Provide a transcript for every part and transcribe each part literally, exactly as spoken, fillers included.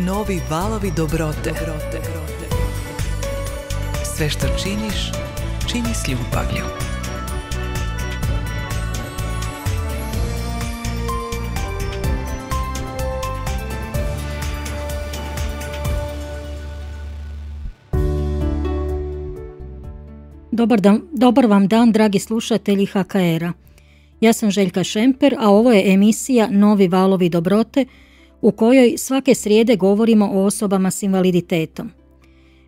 Novi valovi dobrote. dobrote. Sve što činiš, čini s ljubavlju. Dobar, dan, dobar vam dan, dragi slušatelji H K R-a. Ja sam Željka Šemper, a ovo je emisija Novi valovi dobrote, u kojoj svake srijede govorimo o osobama s invaliditetom.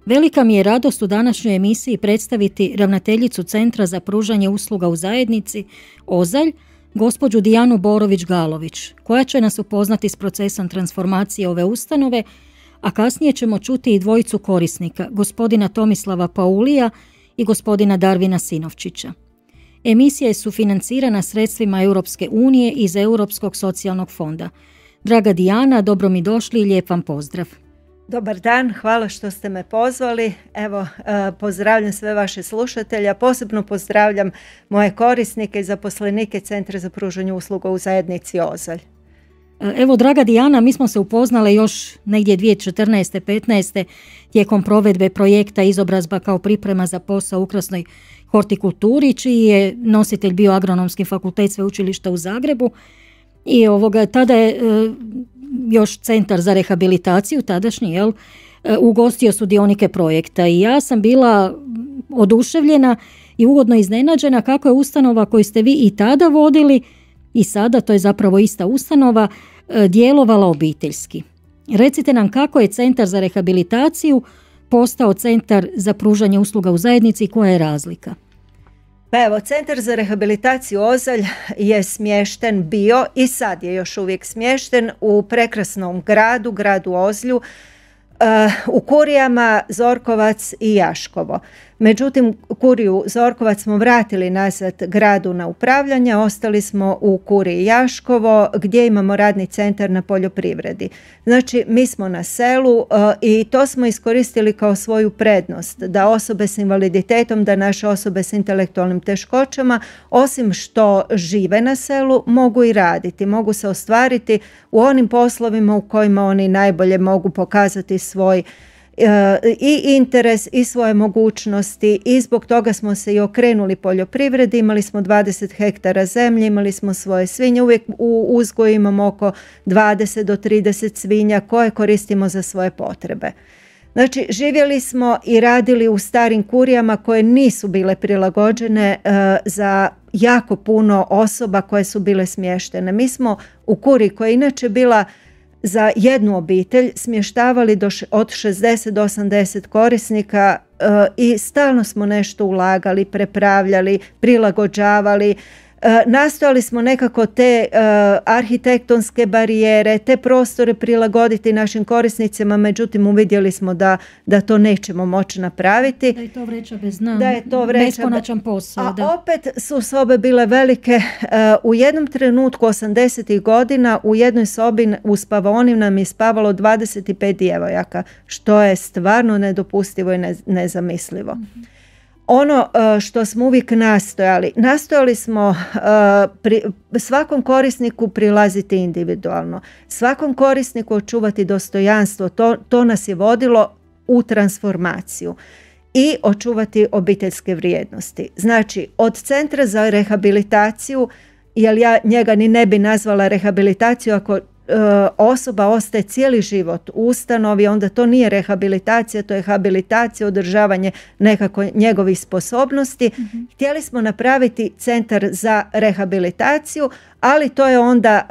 Velika mi je radost u današnjoj emisiji predstaviti ravnateljicu Centra za pružanje usluga u zajednici Ozalj, gospođu Dijanu Borović-Galović, koja će nas upoznati s procesom transformacije ove ustanove, a kasnije ćemo čuti i dvojicu korisnika, gospodina Tomislava Paulija i gospodina Darvina Sinovčića. Emisija je sufinancirana sredstvima Europske unije iz Europskog socijalnog fonda. Draga Dijana, dobro mi došli i lijep vam pozdrav. Dobar dan, hvala što ste me pozvali. Evo, pozdravljam sve vaše slušatelje, posebno pozdravljam moje korisnike i zaposlenike Centra za pružanje usluga u zajednici Ozalj. Evo, draga Dijana, mi smo se upoznale još negdje dvije tisuće četrnaeste petnaeste tijekom provedbe projekta Izobrazba kao priprema za posao u ukrasnoj hortikulturi, čiji je nositelj bio Agronomski fakultet Sveučilišta u Zagrebu. I ovoga, tada je e, još Centar za rehabilitaciju, tadašnji, jel, e, ugostio sudionike projekta. I ja sam bila oduševljena i ugodno iznenađena kako je ustanova koju ste vi i tada vodili i sada, to je zapravo ista ustanova, e, djelovala obiteljski. Recite nam kako je Centar za rehabilitaciju postao Centar za pružanje usluga u zajednici i koja je razlika? Pa evo, Centar za rehabilitaciju Ozalj je smješten bio i sad je još uvijek smješten u prekrasnom gradu, gradu Ozlju, u kurijama Zorkovac i Jaškovo. Međutim, kuriju Zorkovac smo vratili nazad gradu na upravljanje, ostali smo u kuriji Jaškovo gdje imamo radni centar na poljoprivredi. Znači, mi smo na selu i to smo iskoristili kao svoju prednost, da osobe s invaliditetom, da naše osobe s intelektualnim teškoćama, osim što žive na selu, mogu i raditi, mogu se ostvariti u onim poslovima u kojima oni najbolje mogu pokazati svoj i interes i svoje mogućnosti i zbog toga smo se i okrenuli poljoprivredi. Imali smo dvadeset hektara zemlje, imali smo svoje svinje, uvijek u uzgoju imamo oko dvadeset do trideset svinja koje koristimo za svoje potrebe. Znači, živjeli smo i radili u starim kurijama koje nisu bile prilagođene uh, za jako puno osoba koje su bile smještene. Mi smo u kuriji koja je inače bila za jednu obitelj smještavali do š- od šezdeset do osamdeset korisnika uh, i stalno smo nešto ulagali, prepravljali, prilagođavali. Uh, nastojali smo nekako te uh, arhitektonske barijere, te prostore prilagoditi našim korisnicima, međutim uvidjeli smo da, da to nećemo moći napraviti. Da je to vreća bez dna, da je to vreća beskonačan posao. A da. opet su sobe bile velike. Uh, u jednom trenutku osamdesetih godina u jednoj sobi u spavaoni nam je spavalo dvadeset pet djevojaka, što je stvarno nedopustivo i ne, nezamislivo. Mm-hmm. Ono što smo uvijek nastojali, nastojali smo pri, svakom korisniku prilaziti individualno, svakom korisniku očuvati dostojanstvo, to, to nas je vodilo u transformaciju i očuvati obiteljske vrijednosti. Znači, od Centra za rehabilitaciju, jer ja njega ni ne bi nazvala rehabilitaciju ako osoba ostaje cijeli život u ustanovi, onda to nije rehabilitacija, to je habilitacija, održavanje nekako njegovih sposobnosti. Mm-hmm. Htjeli smo napraviti Centar za rehabilitaciju, ali to je onda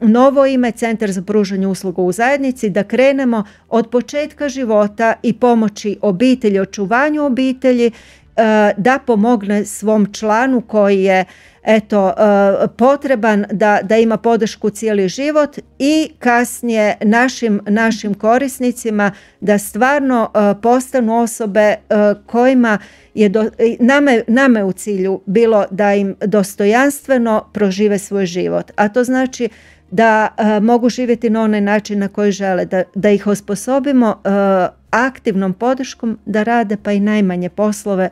uh, novo ime, Centar za pružanje usluga u zajednici, da krenemo od početka života i pomoći obitelji, očuvanju obitelji, uh, da pomogne svom članu koji je eto, uh, potreban da, da ima podršku cijeli život i kasnije našim, našim korisnicima da stvarno uh, postanu osobe uh, kojima je do, nama, nama je u cilju bilo da im dostojanstveno prožive svoj život. A to znači da uh, mogu živjeti na onaj način na koji žele, da, da ih osposobimo uh, aktivnom podrškom da rade pa i najmanje poslove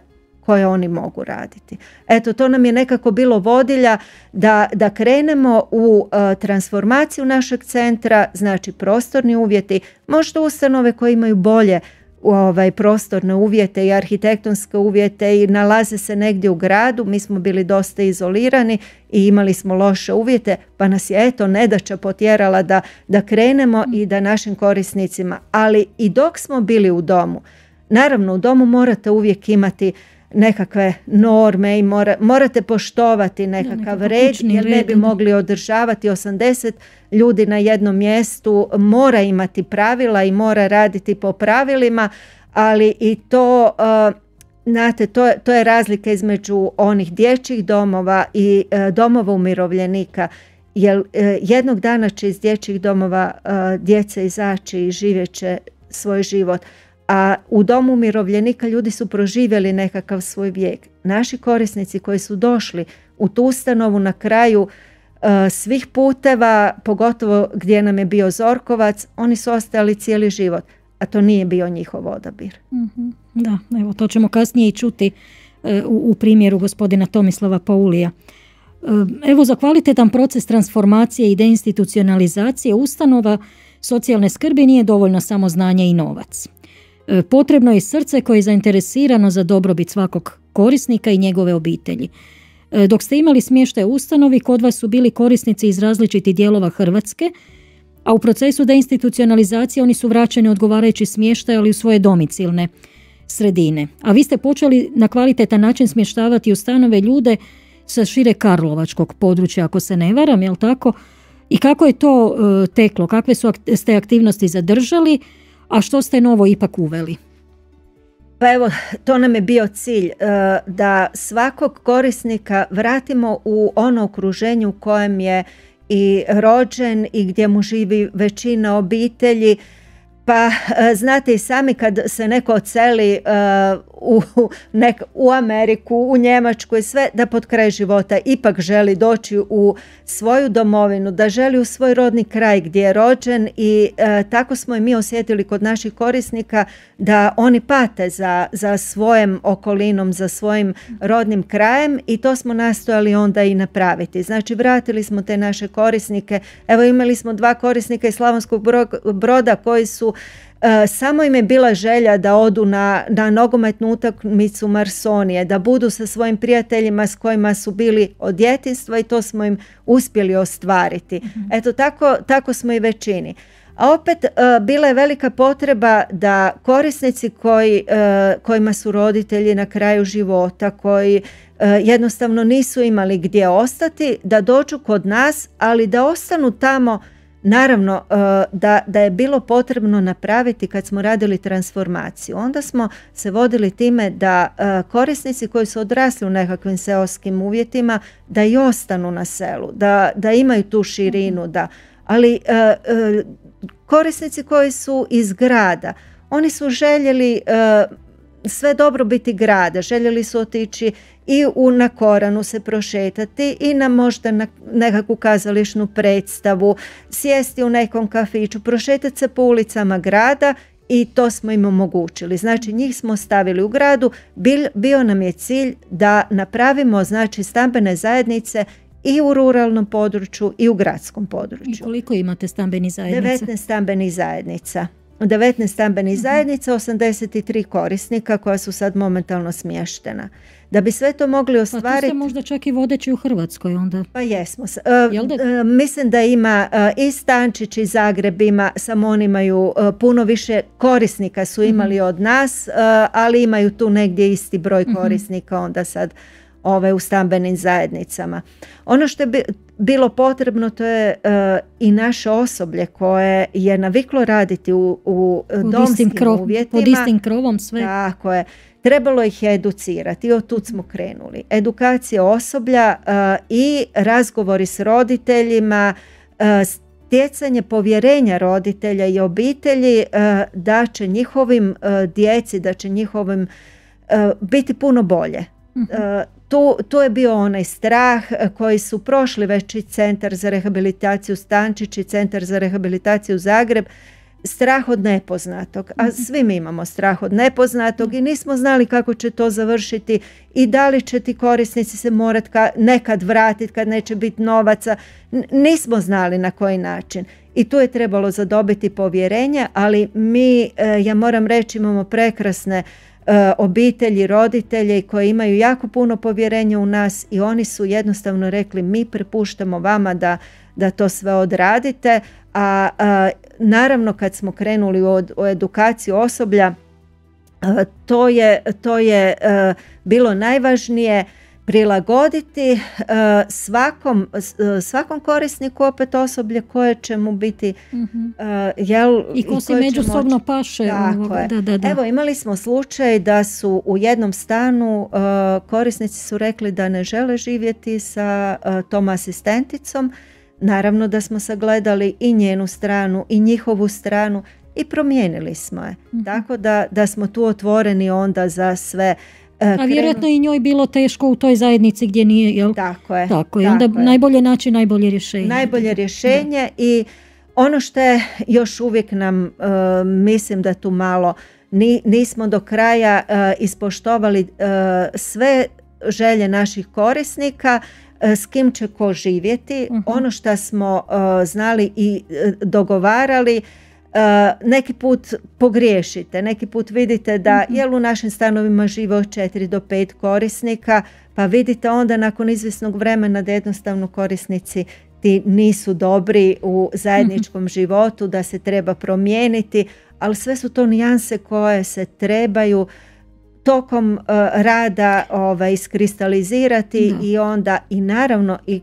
koje oni mogu raditi. Eto, to nam je nekako bilo vodilja da, da krenemo u uh, transformaciju našeg centra, znači prostorni uvjeti, možda ustanove koje imaju bolje ovaj, prostorne uvjete i arhitektonske uvjete i nalaze se negdje u gradu. Mi smo bili dosta izolirani i imali smo loše uvjete, pa nas je eto nedaća potjerala da, da krenemo i da našim korisnicima, ali i dok smo bili u domu, naravno u domu morate uvijek imati nekakve norme i mora, morate poštovati nekakav da, red jer ne bi mogli održavati osamdeset ljudi na jednom mjestu, mora imati pravila i mora raditi po pravilima, ali i to, uh, znate, to, to je razlika između onih dječjih domova i uh, domova umirovljenika, jer uh, jednog dana će iz dječjih domova uh, djeca izaći i živjet će svoj život. A u domu umirovljenika ljudi su proživjeli nekakav svoj vijek. Naši korisnici koji su došli u tu ustanovu na kraju uh, svih puteva, pogotovo gdje nam je bio Zorkovac, oni su ostali cijeli život, a to nije bio njihov odabir. Mm-hmm. Da, evo to ćemo kasnije i čuti uh, u, u primjeru gospodina Tomislava Paulija. Uh, evo za kvalitetan proces transformacije i deinstitucionalizacije ustanova socijalne skrbi nije dovoljno samo znanje i novac. Potrebno je i srce koje je zainteresirano za dobrobit svakog korisnika i njegove obitelji. Dok ste imali smještaj u ustanovi, kod vas su bili korisnici iz različitih dijelova Hrvatske, a u procesu deinstitucionalizacije oni su vraćeni odgovarajući smještaj, ali u svoje domicilne sredine. A vi ste počeli na kvalitetan način smještavati u stanove ljude sa šire karlovačkog područja, ako se ne varam, jel tako? I kako je to uh, teklo? Kakve su ak- ste aktivnosti zadržali? A što ste novo ipak uveli? Pa evo, to nam je bio cilj, da svakog korisnika vratimo u ono okruženje u kojem je i rođen i gdje mu živi većina obitelji. Pa znate i sami kad se neko odseli uh, u, nek, u Ameriku, u Njemačku i sve, da pod kraj života ipak želi doći u svoju domovinu, da želi u svoj rodni kraj gdje je rođen i uh, tako smo i mi osjetili kod naših korisnika da oni pate za, za svojom okolinom, za svojim rodnim krajem i to smo nastojali onda i napraviti. Znači vratili smo te naše korisnike. Evo imali smo dva korisnika iz Slavonskog Broda koji su Uh, samo im je bila želja da odu na, na nogometnu utakmicu Marsonije, da budu sa svojim prijateljima s kojima su bili od djetinjstva i to smo im uspjeli ostvariti. Mm-hmm. Eto tako, tako smo i većini. A opet uh, bila je velika potreba da korisnici koji, uh, kojima su roditelji na kraju života, koji uh, jednostavno nisu imali gdje ostati, da dođu kod nas, ali da ostanu tamo. Naravno da, da je bilo potrebno napraviti kad smo radili transformaciju. Onda smo se vodili time da korisnici koji su odrasli u nekakvim seoskim uvjetima da i ostanu na selu, da, da imaju tu širinu, da, ali korisnici koji su iz grada, oni su željeli sve dobrobiti grada, željeli su otići i u, na Koranu se prošetati i na možda na nekakvu kazališnu predstavu, sjesti u nekom kafiću, prošetati se po ulicama grada i to smo im omogućili. Znači njih smo stavili u gradu, bil, bio nam je cilj da napravimo znači stambene zajednice i u ruralnom području i u gradskom području. I koliko imate stambenih zajednica? devetnaest stambenih zajednica. devetnaest stambenih uh-huh. zajednica, osamdeset tri korisnika koja su sad momentalno smještena. Da bi sve to mogli ostvariti... Pa tu ste možda čak i vodeći u Hrvatskoj onda. Pa jesmo. Uh, uh, mislim da ima uh, i Stančić i Zagreb ima, samo oni imaju uh, puno više korisnika su imali uh-huh. od nas, uh, ali imaju tu negdje isti broj korisnika uh-huh. onda sad ove u stambenim zajednicama. Ono što je bi, bilo potrebno to je uh, i naše osoblje koje je naviklo raditi u, u domskim krov, uvjetima. Pod istim krovom sve. Tako je. Trebalo ih je educirati i od tud smo krenuli. Edukacija osoblja uh, i razgovori s roditeljima, uh, stjecanje povjerenja roditelja i obitelji uh, da će njihovim uh, djeci, da će njihovim uh, biti puno bolje. Uh, tu, tu je bio onaj strah koji su prošli već i Centar za rehabilitaciju Stančić i Centar za rehabilitaciju Zagreb, strah od nepoznatog, a svi mi imamo strah od nepoznatog i nismo znali kako će to završiti i da li će ti korisnici se morati nekad vratiti kad neće biti novaca. Nismo znali na koji način i tu je trebalo zadobiti povjerenje, ali mi, ja moram reći, imamo prekrasne obitelji, roditelji koji imaju jako puno povjerenja u nas i oni su jednostavno rekli mi prepuštamo vama da, da to sve odradite, a, a naravno kad smo krenuli u, u edukaciju osoblja a, to je, to je a, bilo najvažnije prilagoditi uh, svakom, uh, svakom korisniku opet osoblje koje će mu biti mm-hmm. uh, jel, i ko se međusobno moći... paše. Ovoga, da, da, da. Evo, imali smo slučaj da su u jednom stanu uh, korisnici su rekli da ne žele živjeti sa uh, tom asistenticom. Naravno da smo sagledali i njenu stranu i njihovu stranu i promijenili smo je. Mm-hmm. Tako da, da smo tu otvoreni onda za sve. A vjerojatno i njoj bilo teško u toj zajednici gdje nije, jel? Tako je. Tako je. Onda tako najbolje naći najbolje rješenje. Najbolje rješenje da. I ono što je još uvijek nam, uh, mislim da tu malo ni, nismo do kraja uh, ispoštovali uh, sve želje naših korisnika, uh, s kim će ko živjeti. Uh-huh. Ono što smo uh, znali i uh, dogovarali, Uh, neki put pogriješite, neki put vidite da mm-hmm. jel u našim stanovima žive od četiri do pet korisnika, pa vidite onda nakon izvjesnog vremena da jednostavno korisnici ti nisu dobri u zajedničkom mm-hmm. životu, da se treba promijeniti, ali sve su to nijanse koje se trebaju tokom uh, rada ovaj, iskristalizirati mm-hmm. i onda i naravno i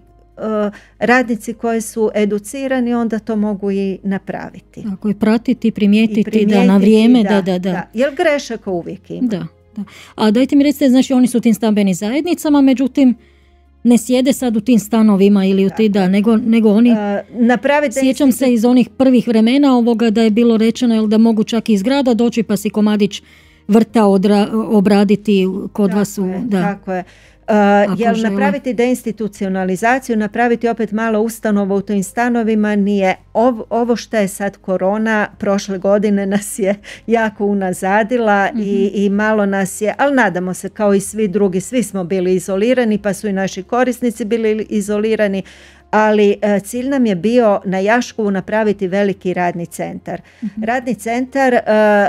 radnici koji su educirani onda to mogu i napraviti. Tako je, pratiti, primijetiti, primijetiti da na vrijeme, da, da, da. da. Jer grešaka uvijek ima. Da, da. A dajte mi recite, znači oni su u tim stambenim zajednicama, međutim ne sjede sad u tim stanovima ili u ti, da, nego, nego oni, uh, sjećam se iz onih prvih vremena ovoga da je bilo rečeno jel, da mogu čak iz grada doći pa si komadić vrta odra, obraditi kod tako vas. U, je, da. Tako je. Uh, jel napraviti deinstitucionalizaciju, napraviti opet malo ustanova u tim stanovima nije ovo, ovo što je sad korona prošle godine nas je jako unazadila mm-hmm. i, i malo nas je, ali nadamo se kao i svi drugi, svi smo bili izolirani pa su i naši korisnici bili izolirani, ali uh, cilj nam je bio na Jaškovu napraviti veliki radni centar. Mm-hmm. Radni centar uh,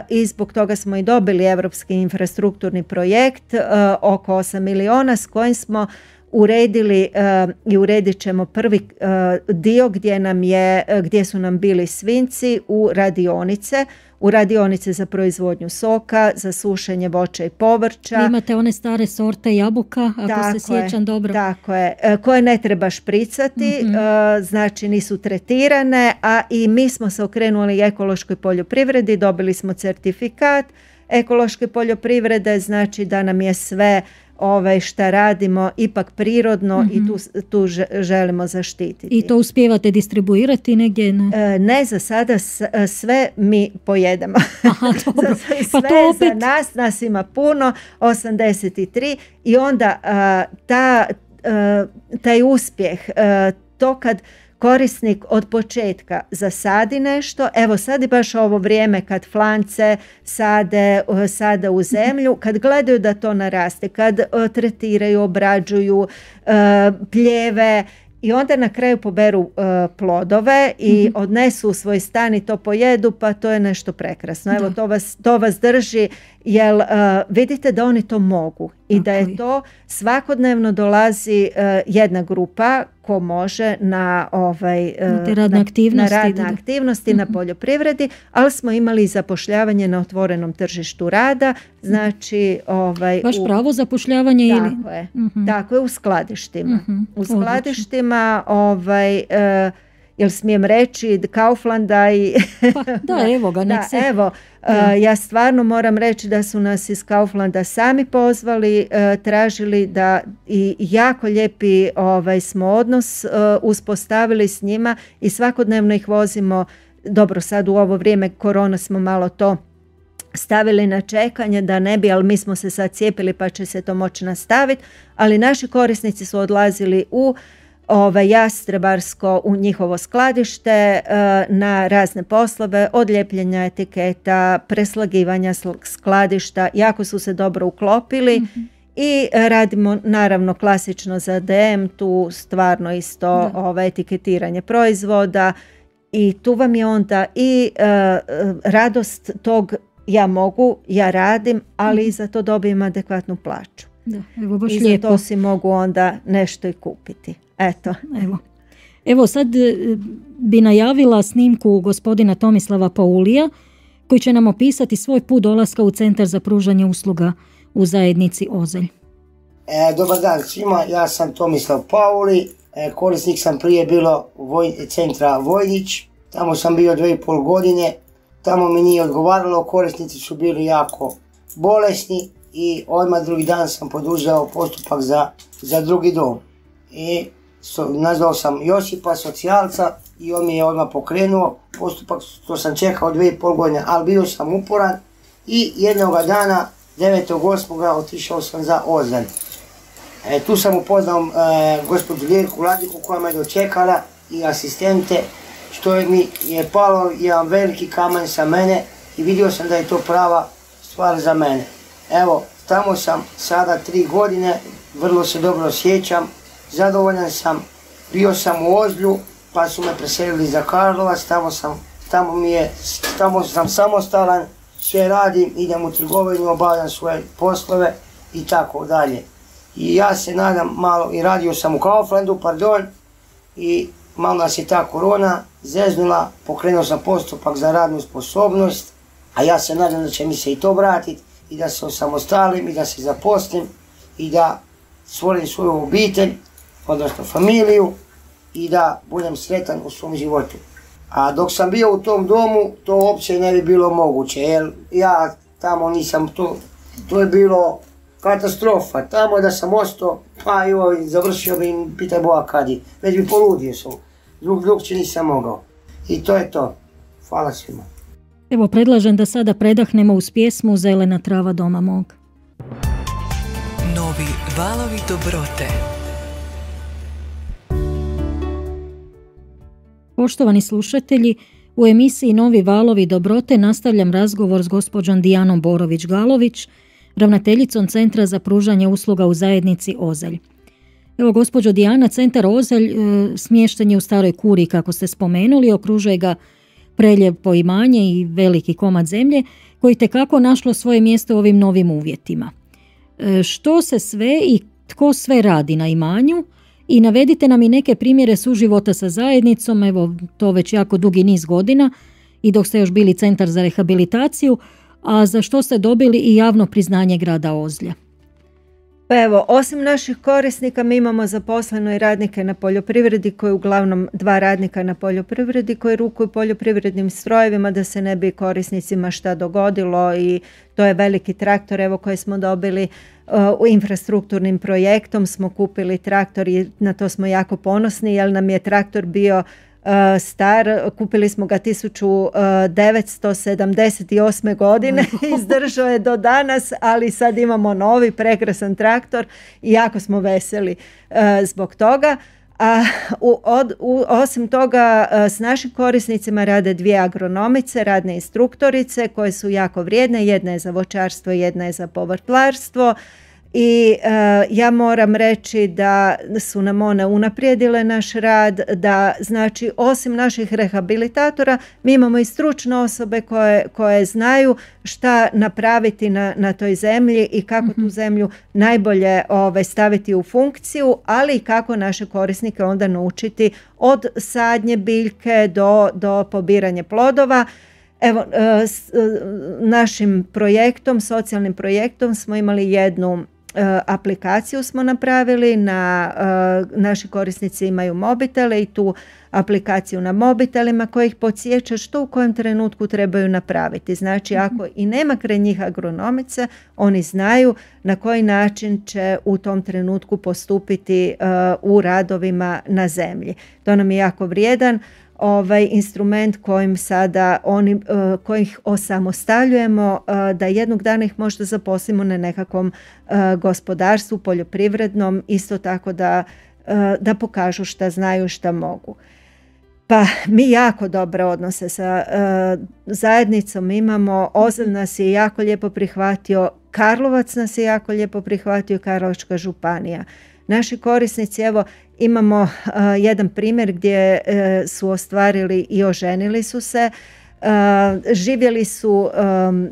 i zbog toga smo i dobili Europski infrastrukturni projekt uh, oko osam miliona s kojim smo uredili uh, i uredit ćemo prvi uh, dio gdje, nam je, uh, gdje su nam bili svinjci u radionice, u radionice za proizvodnju soka, za sušenje voća i povrća. Vi imate one stare sorte jabuka, ako tako se sjećam je, dobro. Tako je, koje ne treba špricati, mm-hmm. znači nisu tretirane, a i mi smo se okrenuli ekološkoj poljoprivredi, dobili smo certifikat ekološke poljoprivrede, znači da nam je sve Ove, šta radimo ipak prirodno mm-hmm. i tu, tu želimo zaštititi. I to uspijevate distribuirati negdje? Ne, e, ne za sada sve mi pojedemo. Aha, dobro. sve pa to opet... za nas, nas ima puno, osamdeset tri i onda a, ta, a, taj uspjeh, a, to kad korisnik od početka zasadi nešto, evo sad je baš ovo vrijeme kad flance sade, sade u zemlju, kad gledaju da to naraste, kad uh, tretiraju, obrađuju uh, pljeve i onda na kraju poberu uh, plodove i mm-hmm. odnesu u svoj stan i to pojedu, pa to je nešto prekrasno. Evo, to vas, to vas drži, jer uh, vidite da oni to mogu i okay. da je to svakodnevno dolazi uh, jedna grupa ko može na, ovaj, uh, na radne aktivnosti, na, radne da, da. aktivnosti mm-hmm. na poljoprivredi, ali smo imali zapošljavanje na otvorenom tržištu rada, znači ovaj, baš u, pravo zapošljavanje tako ili? Je, mm-hmm. tako je, u skladištima. Mm-hmm. U skladištima ovaj, uh, jel smijem reći Kauflanda i pa, da, evo ga, nek se... Da, evo, da. Uh, ja stvarno moram reći da su nas iz Kauflanda sami pozvali, uh, tražili da i jako lijepi ovaj, smo odnos uh, uspostavili s njima i svakodnevno ih vozimo. Dobro, sad u ovo vrijeme korona smo malo to stavili na čekanje da ne bi, ali mi smo se sad cijepili pa će se to moći nastaviti, ali naši korisnici su odlazili u ovaj, Jastrebarsko u njihovo skladište na razne poslove, od lijepljenja etiketa, preslagivanja skladišta. Jako su se dobro uklopili. Mm-hmm. I radimo naravno klasično za D M, tu stvarno isto ovaj, etiketiranje proizvoda i tu vam je onda i uh, radost tog ja mogu, ja radim, ali i za to dobijem adekvatnu plaću. Da, evo baš I lijepo. za to si mogu onda nešto i kupiti. Eto. Evo. Evo sad bi najavila snimku gospodina Tomislava Paulija koji će nam opisati svoj put dolaska u Centar za pružanje usluga u zajednici Ozelj. E, dobar dan svima, ja sam Tomislav Pauli, e, korisnik sam prije bilo voj, centra Vojnić, tamo sam bio dvije i pol godine, tamo mi nije odgovaralo, korisnici su bili jako bolesni i odmah drugi dan sam poduzeo postupak za, za drugi dom. I so, nazvao sam Josipa, socijalca, i on mi je odmah pokrenuo postupak, to sam čekao dvije i pol godine, ali bio sam uporan i jednoga dana devetog osmog otišao sam za Ozalj. E, tu sam upoznao e, gospođu Ljerku Ladiku koja me dočekala i asistente, što je mi je palo jedan veliki kamen sa mene i vidio sam da je to prava stvar za mene. Evo, tamo sam sada tri godine, vrlo se dobro osjećam, zadovoljan sam, bio sam u Ozlju, pa su me preselili za Karlovac, tamo sam, tamo mi je, tamo sam samostalan, sve radim, idem u trgovinu, obavljam svoje poslove i tako dalje. I ja se nadam malo, i radio sam u Kauflandu, pardon, i malo nas je ta korona zeznula, pokrenuo sam postupak za radnu sposobnost, a ja se nadam da će mi se i to vratiti i da se osamostalim i da se zaposlim i da stvorim svoju obitelj, odnosno familiju i da budem sretan u svom životu. A dok sam bio u tom domu, to uopće ne bi bilo moguće, jer ja tamo nisam, to, to je bilo katastrofa. Tamo da sam ostao, pa joj, završio bi, pitaj Boga kad je, već bi poludio sam, drug drugče nisam mogao. I to je to. Hvala svima. Evo, predlažem da sada predahnemo uz pjesmu Zelena trava doma mog. Novi valovi dobrote. Poštovani slušatelji, u emisiji Novi valovi dobrote nastavljam razgovor s gospođom Dijanom Borović-Galović, ravnateljicom Centra za pružanje usluga u zajednici Ozelj. Evo, gospođo Dijana, Centar Ozelj e, smješten je u Staroj Kuri, kako ste spomenuli, okružuje ga prelijepo imanje i veliki komad zemlje koji tekako našlo svoje mjesto u ovim novim uvjetima. E, što se sve i tko sve radi na imanju? I navedite nam i neke primjere suživota sa zajednicom, evo to već jako dugi niz godina i dok ste još bili Centar za rehabilitaciju, a za što ste dobili i javno priznanje grada Ozlja. Pa evo, osim naših korisnika mi imamo zaposleno i radnike na poljoprivredi koji uglavnom dva radnika na poljoprivredi koji rukuju poljoprivrednim strojevima da se ne bi korisnicima šta dogodilo i to je veliki traktor evo koji smo dobili uh, u infrastrukturnim projektom smo kupili traktor i na to smo jako ponosni jer nam je traktor bio Uh, star, kupili smo ga tisuću devetsto sedamdeset osme godine, izdržao je do danas, ali sad imamo novi prekrasan traktor i jako smo veseli uh, zbog toga. A u, od, u, osim toga uh, s našim korisnicima rade dvije agronomice, radne instruktorice koje su jako vrijedne, jedna je za voćarstvo, jedna je za povrtlarstvo. I uh, ja moram reći da su nam one unaprijedile naš rad, da znači osim naših rehabilitatora mi imamo i stručne osobe koje, koje znaju šta napraviti na, na toj zemlji i kako mm-hmm. tu zemlju najbolje ove, staviti u funkciju, ali i kako naše korisnike onda naučiti od sadnje biljke do, do pobiranja plodova. Evo, s našim projektom, socijalnim projektom smo imali jednu aplikaciju smo napravili, na, naši korisnici imaju mobitele i tu aplikaciju na mobitelima koja ih podsjeća što u kojem trenutku trebaju napraviti. Znači ako i nema kraj njih agronomice, oni znaju na koji način će u tom trenutku postupiti u radovima na zemlji. To nam je jako vrijedan ovaj instrument kojim sada oni, uh, kojih osamostaljujemo uh, da jednog dana ih možda zaposlimo na nekakvom uh, gospodarstvu, poljoprivrednom, isto tako da uh, da pokažu šta znaju, šta mogu. Pa mi jako dobre odnose sa uh, zajednicom imamo. Ozalj nas je jako lijepo prihvatio, Karlovac nas je jako lijepo prihvatio, Karlovačka županija. Naši korisnici, evo imamo uh, jedan primjer gdje uh, su ostvarili i oženili su se, uh, živjeli su um,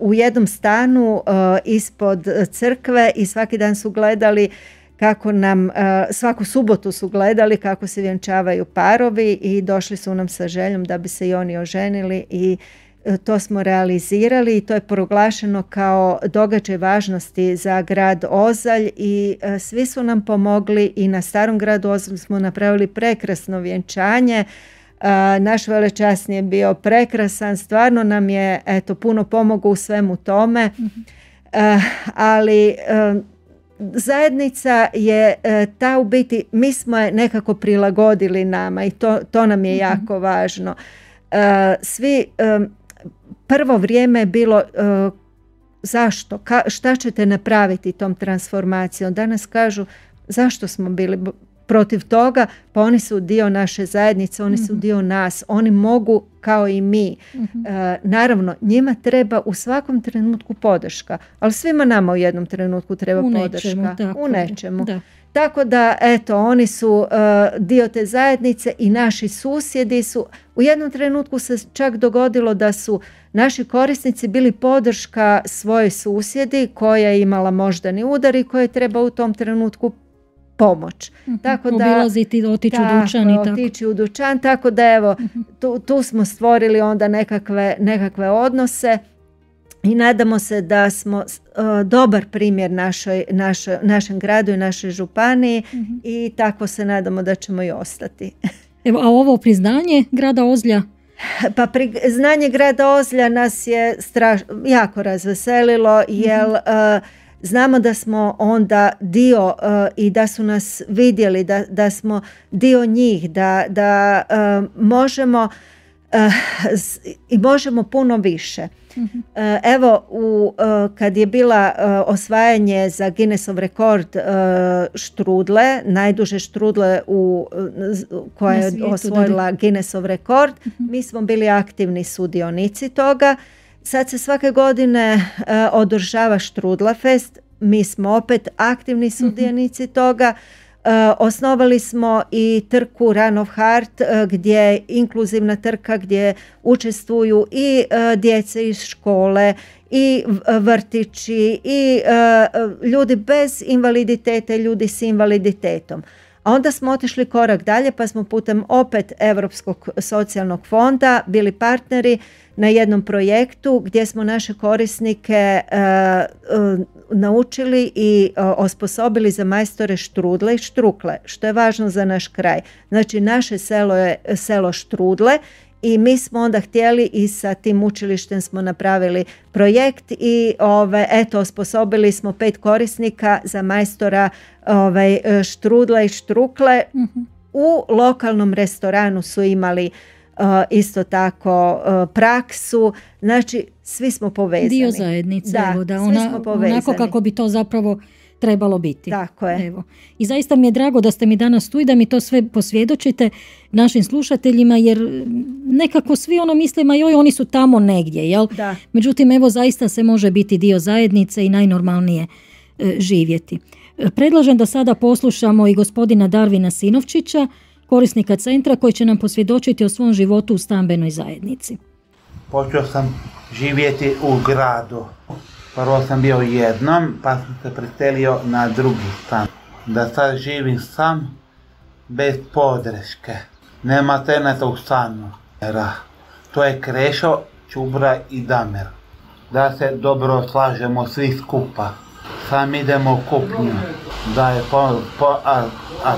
u jednom stanu uh, ispod crkve i svaki dan su gledali kako nam, svaku subotu su gledali kako se vjenčavaju parovi i došli su nam sa željom da bi se i oni oženili i to smo realizirali i to je proglašeno kao događaj važnosti za grad Ozalj i svi su nam pomogli i na starom gradu Ozalj smo napravili prekrasno vjenčanje. Naš velečasni je bio prekrasan, stvarno nam je eto, puno pomogao u svemu tome, mm-hmm. ali zajednica je ta u biti, mi smo je nekako prilagodili nama i to, to nam je jako važno. Svi, prvo vrijeme je bilo zašto, Ka, šta ćete napraviti tom transformacijom. Danas kažu zašto smo bili protiv toga, pa oni su dio naše zajednice, oni su dio nas, oni mogu kao i mi. Mm-hmm. E, naravno, njima treba u svakom trenutku podrška, ali svima nama u jednom trenutku treba u podrška. Nečemu, tako u nečemu. Da. Tako da, eto, oni su uh, dio te zajednice i naši susjedi su, u jednom trenutku se čak dogodilo da su naši korisnici bili podrška svojoj susjedi koja je imala moždani udar i koja treba u tom trenutku pomoć. Uh-huh. Tako da, obilaziti, otići u dućan i tako. Otići u dućan, tako da evo, uh-huh. tu, tu smo stvorili onda nekakve, nekakve odnose i nadamo se da smo uh, dobar primjer našoj, našoj, našem gradu i našoj županiji uh-huh. i tako se nadamo da ćemo i ostati. Evo, a ovo priznanje grada Ozlja? Pa priznanje grada Ozlja nas je straš, jako razveselilo, jer uh-huh. uh, znamo da smo onda dio uh, i da su nas vidjeli, da, da smo dio njih, da, da uh, možemo uh, i možemo puno više. Uh-huh. Uh, evo, u, uh, kad je bila uh, osvajanje za Guinnessov rekord uh, štrudle, najduže štrudle u, uh, koja je svijetu, osvojila da. Guinnessov rekord, uh-huh. mi smo bili aktivni sudionici toga. Sad se svake godine uh, održava Štrudla Fest, mi smo opet aktivni sudionici uh-huh. toga. Uh, osnovali smo i trku Run of Heart uh, gdje je inkluzivna trka gdje učestvuju i uh, djece iz škole i vrtići i uh, ljudi bez invaliditeta i ljudi s invaliditetom. A onda smo otišli korak dalje pa smo putem opet Europskog socijalnog fonda bili partneri na jednom projektu gdje smo naše korisnike uh, uh, naučili i uh, osposobili za majstore štrudle i štrukle, što je važno za naš kraj. Znači naše selo je selo Štrudle i mi smo onda htjeli i sa tim učilištem smo napravili projekt i ove, eto, osposobili smo pet korisnika za majstora ove, štrudle i štrukle. Mm-hmm. U lokalnom restoranu su imali uh, isto tako uh, praksu, znači svi smo povezani. Dio zajednice, da, evo, da ona, onako kako bi to zapravo trebalo biti. Tako je. Evo. I zaista mi je drago da ste mi danas tu i da mi to sve posvjedočite našim slušateljima, jer nekako svi ono mislimo, joj, oni su tamo negdje, jel? Da. Međutim, evo, zaista se može biti dio zajednice i najnormalnije e, živjeti. E, predlažem da sada poslušamo i gospodina Darvina Sinovčića, korisnika centra, koji će nam posvjedočiti o svom životu u stambenoj zajednici. Počeo sam živjeti u gradu. Prvo sam bio jednom, pa sam se preselio na drugi stan. Da sad živim sam, bez podrške. Nema teneta u stanu. To je Krešo, Čubra i Damer. Da se dobro slažemo svi skupa. Sam idemo u kupnju. Da je po, po, a, a,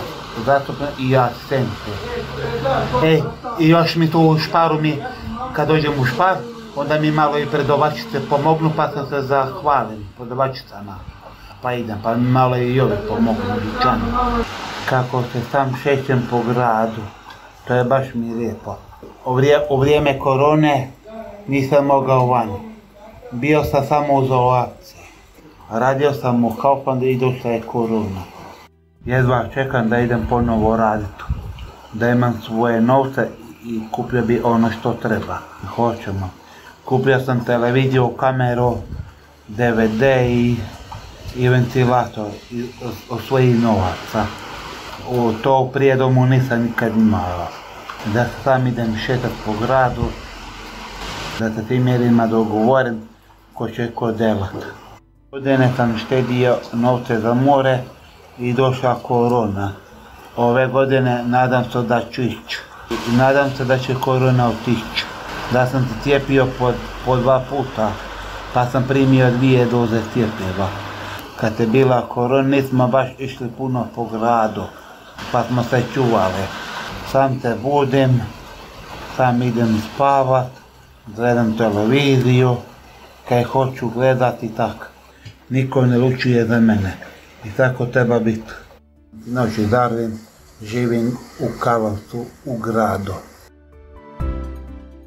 zastupno i ja sente. E, i još mi tu u šparu mi, kad dođem u špar, onda mi malo i predavačice pomognu, pa sam se zahvalim predavačicama. Pa idem, pa mi malo i ovi pomognu dućanu. Kako se sam šećem po gradu, to je baš mi lijepo. U, vrije, u vrijeme korone nisam mogao van. Bio sam samo u izolaciji. Radio sam u Kauflandu i došla je korona. Jedva čekam da idem ponovo raditi, da imam svoje novce i kupio bi ono što treba. Hoćemo. Kupio sam televiziju, kameru, D V D i, i ventilator i, od svojih novaca. U to prije domu nisam nikad imala. Da sam idem šetat po gradu, da se tim mjerima dogovorim ko će ko delat. Godine sam štedio novce za more i došla korona. Ove godine nadam se da ću ići. I nadam se da će korona otići. Da sam se cijepio po, po dva puta, pa sam primio dvije doze cjepiva. Kad je bila korona nismo baš išli puno po gradu, pa smo se čuvali. Sam se budim, sam idem spavat, gledam televiziju, kaj hoću gledati tak. Niko ne lučuje za mene i tako treba biti. Noći Darvin, živim u Karlovcu, u gradu.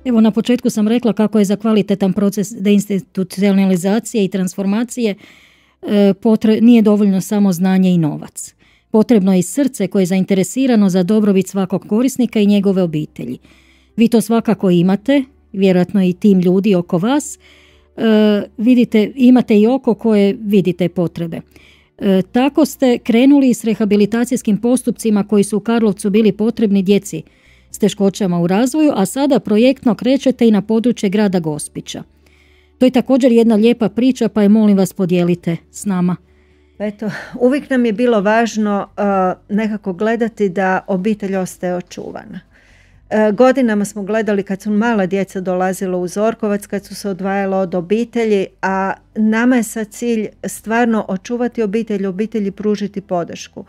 Evo, na početku sam rekla kako je za kvalitetan proces deinstitucionalizacije i transformacije e, potre, nije dovoljno samo znanje i novac. Potrebno je i srce koje je zainteresirano za dobrobit svakog korisnika i njegove obitelji. Vi to svakako imate, vjerojatno i tim ljudi oko vas. E, vidite, imate i oko koje vidite potrebe. E, tako ste krenuli s rehabilitacijskim postupcima koji su u Karlovcu bili potrebni djeci s teškoćama u razvoju, a sada projektno krećete i na područje grada Gospića. To je također jedna lijepa priča, pa je molim vas podijelite s nama. Eto, uvijek nam je bilo važno uh, nekako gledati da obitelj ostaje očuvana. Uh, godinama smo gledali kad su mala djeca dolazila u Zorkovac, kad su se odvajala od obitelji, a nama je sad cilj stvarno očuvati obitelj, obitelji pružiti podršku.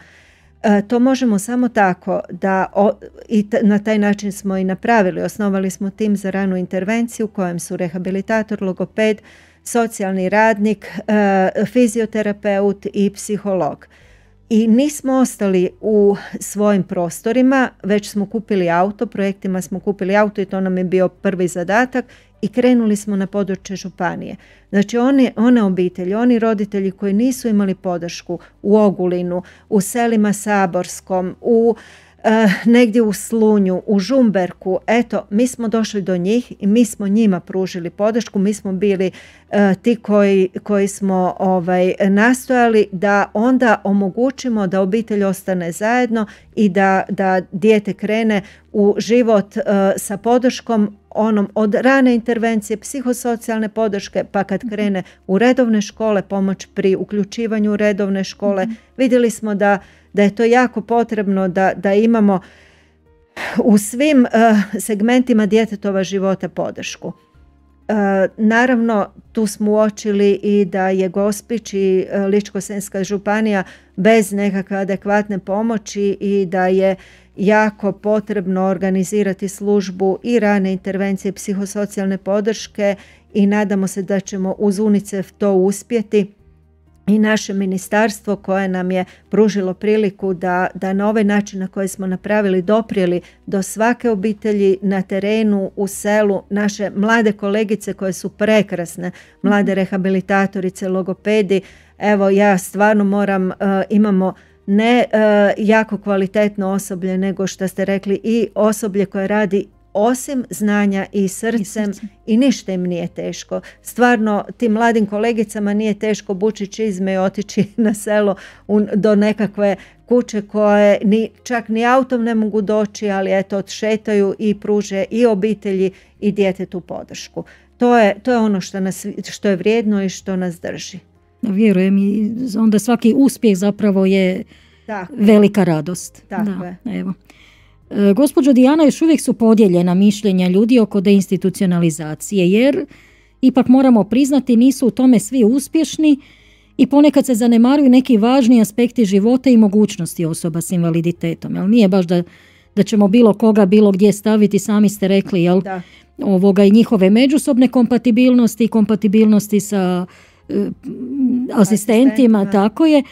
E, to možemo samo tako da o, i t, na taj način smo i napravili. Osnovali smo tim za ranu intervenciju u kojem su rehabilitator, logoped, socijalni radnik, e, fizioterapeut i psiholog. I nismo ostali u svojim prostorima, već smo kupili auto, projektima smo kupili auto i to nam je bio prvi zadatak i krenuli smo na područje županije. Znači one, one obitelji, oni roditelji koji nisu imali podršku u Ogulinu, u selima Saborskom, u e, negdje u Slunju, u Žumberku, eto, mi smo došli do njih i mi smo njima pružili podršku, mi smo bili e, ti koji, koji smo ovaj, nastojali da onda omogućimo da obitelj ostane zajedno i da, da dijete krene u život e, sa podrškom onom od rane intervencije, psihosocijalne podrške, pa kad krene u redovne škole, pomoć pri uključivanju u redovne škole. Mm-hmm. Vidjeli smo da, da je to jako potrebno da, da imamo u svim uh, segmentima djetetova života podršku. Uh, naravno, tu smo uočili i da je Gospić i uh, Ličko-senjska županija bez nekakve adekvatne pomoći i da je jako potrebno organizirati službu i rane intervencije psihosocijalne podrške i nadamo se da ćemo uz UNICEF to uspjeti i naše ministarstvo koje nam je pružilo priliku da, da na ovaj način na koji smo napravili doprijeli do svake obitelji na terenu, u selu, naše mlade kolegice koje su prekrasne, mlade rehabilitatorice, logopedi. Evo ja stvarno moram, uh, imamo ne uh, jako kvalitetno osoblje, nego što ste rekli i osoblje koje radi osim znanja i srcem, i srcem i ništa im nije teško. Stvarno tim mladim kolegicama nije teško bući čizme i otići na selo un, do nekakve kuće koje ni, čak ni autom ne mogu doći, ali eto odšetaju i pruže i obitelji i djetetu podršku. To je, to je ono što, nas, što je vrijedno i što nas drži. Vjerujem i onda svaki uspjeh zapravo je tako velika radost. Tako da, je. Evo. E, gospođo Dijana, još uvijek su podijeljena mišljenja ljudi oko deinstitucionalizacije, jer ipak moramo priznati nisu u tome svi uspješni i ponekad se zanemaruju neki važni aspekti života i mogućnosti osoba s invaliditetom. Jel nije baš da, da ćemo bilo koga bilo gdje staviti, sami ste rekli, jel, ovoga, i njihove međusobne kompatibilnosti i kompatibilnosti sa asistentima, asistentima, tako je.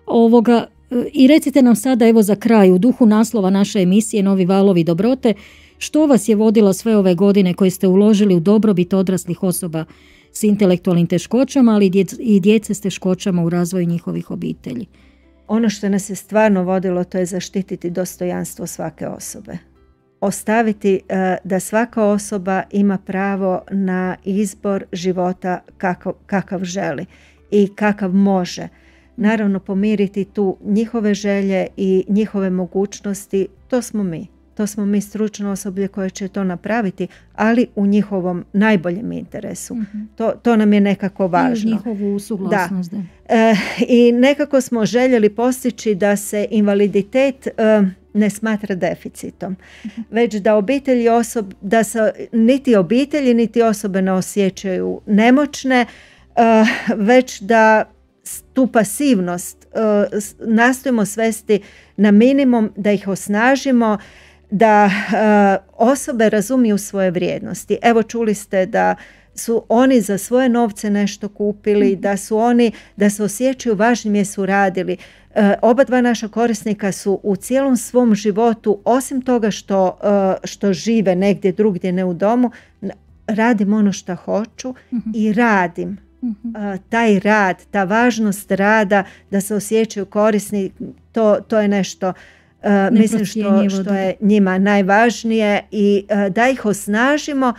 Ovoga, i recite nam sada, evo za kraj, u duhu naslova naše emisije Novi valovi dobrote, što vas je vodilo sve ove godine koje ste uložili u dobrobit odraslih osoba s intelektualnim teškoćama, ali i djece s teškoćama u razvoju njihovih obitelji? ono što nas je stvarno vodilo, to je zaštititi dostojanstvo svake osobe. Ostaviti uh, da svaka osoba ima pravo na izbor života kakav, kakav želi i kakav može. Naravno, pomiriti tu njihove želje i njihove mogućnosti, to smo mi. To smo mi stručno osoblje koje će to napraviti, ali u njihovom najboljem interesu. Mm-hmm. To, to nam je nekako važno. I njihovu suglasnost. Da. E, I nekako smo željeli postići da se invaliditet e, ne smatra deficitom. Mm-hmm. Već da obitelji osob, da se niti obitelji niti osobe ne osjećaju nemoćne, e, već da tu pasivnost e, nastojimo svesti na minimum, da ih osnažimo, da e, osobe razumiju svoje vrijednosti. Evo, čuli ste da su oni za svoje novce nešto kupili, da su oni, da se osjećaju važnim jer su radili. E, oba dva naša korisnika su u cijelom svom životu, osim toga što, e, što žive negdje drugdje, ne u domu, radim ono što hoću mm-hmm. i radim. Mm-hmm. E, taj rad, ta važnost rada, da se osjećaju korisni, to, to je nešto Uh, mislim što, što je njima najvažnije i uh, da ih osnažimo,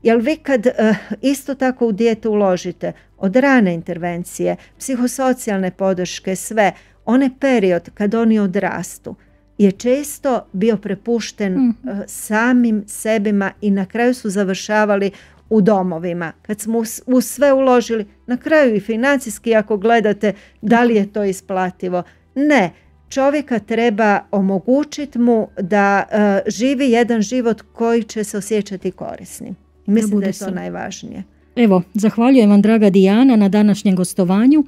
jer vi kad uh, isto tako u dijete uložite od rane intervencije, psihosocijalne podrške, sve, onaj period kad oni odrastu je često bio prepušten mm. uh, samim sebima i na kraju su završavali u domovima. Kad smo u, u sve uložili, na kraju i financijski, ako gledate da li je to isplativo, ne. Čovjeka treba omogućiti mu da uh, živi jedan život koji će se osjećati korisnim. I mislim da, da je to sam. najvažnije. Evo, zahvaljujem vam, draga Dijana, na današnjem gostovanju.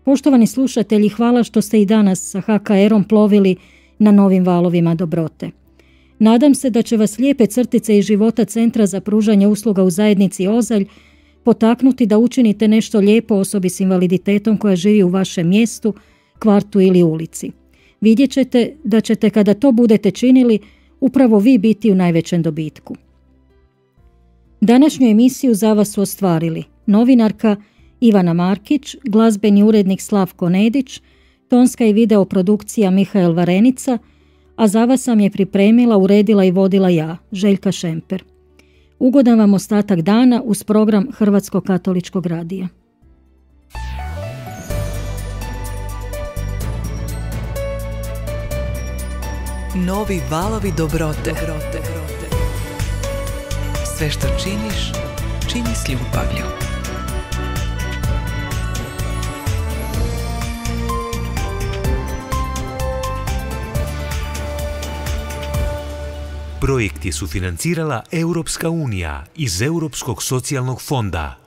Poštovani slušatelji, hvala što ste i danas sa ha ka erom plovili na novim valovima dobrote. Nadam se da će vas lijepe crtice iz života Centra za pružanje usluga u zajednici Ozalj potaknuti da učinite nešto lijepo osobi s invaliditetom koja živi u vašem mjestu, kvartu ili ulici. Vidjet ćete da ćete, kada to budete činili, upravo vi biti u najvećem dobitku. Današnju emisiju za vas su ostvarili novinarka Ivana Markić, glazbeni urednik Slavko Nedić, tonska i video produkcija Mihael Varenica, a za vas sam je pripremila, uredila i vodila ja, Željka Šemper. Ugodan vam ostatak dana uz program Hrvatskog katoličkog radija. Novi valovi dobrote. dobrote. Sve što činiš, čini s ljubavlju. Projekt je sufinancirala Europska unija iz Europskog socijalnog fonda.